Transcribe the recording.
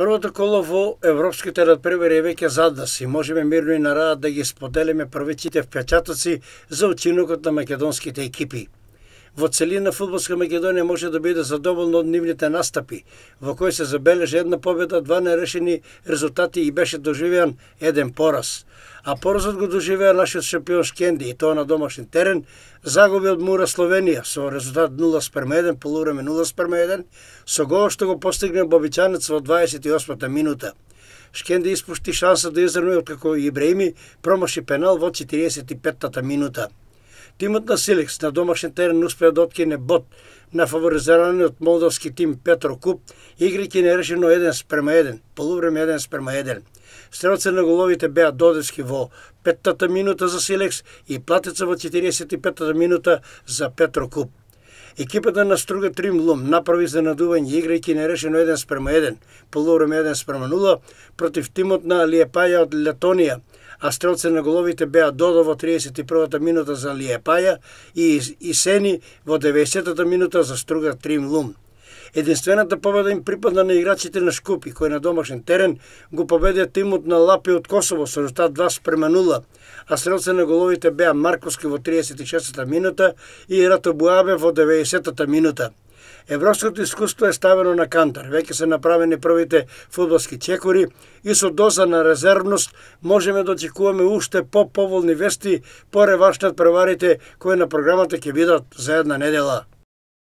Првото коло во европските надпревари е веќе зад нас и можеме мирно и на раат да ги споделиме првичите впечатоци за учинокот на македонските екипи. Во целина фудбалска Македонија може да биде задоволна од нивните настапи, во кои се забележи една победа, два нерешени резултати и беше доживеан еден пораз. А поразот го доживеа нашиот шампион Шкенди и тоа на домашен терен, загуби од Мура Словенија со резултат 0:1, полувреме 0:1, со гол што го постигне Бобичанец во 28-та минута. Шкенди испушти шанса да изравни откако Ибраими промаши пенал во 45-та минута. Тимот на Силекс на домашен терен успеа да откине бод на фаворизираниот молдовски тим Петрокуп, играјќи нерешено 1:1, полувреме 1:1. Стрелци на головите беа Додевски во 5-та минута за Силекс и Платеца во 45-та минута за Петрокуп. Екипата на Струга Тримлум направи изненадување играјќи нерешено 1:1, полувреме 1:0 против тимот на Лиепаја од Летонија, а стрелци на головите беа Додо во 31-та минута за Лиепаја и Сени во 90-та минута за Струга Тримлум. Единствената победа им припадна на играчите на Шкупи, кои на домашен терен го победија тимот на Лапи од Косово со резултат 2:0, а стрелци на головите беа Марковски во 36-та минута и Рато Буабе во 90-та минута. Европското искуство е ставено на кантар, веќе се направени првите фудбалски чекори и со доза на резервност можеме да очекуваме уште по-поволни вести по реванш над преварите кои на програмата ќе бидат за една недела.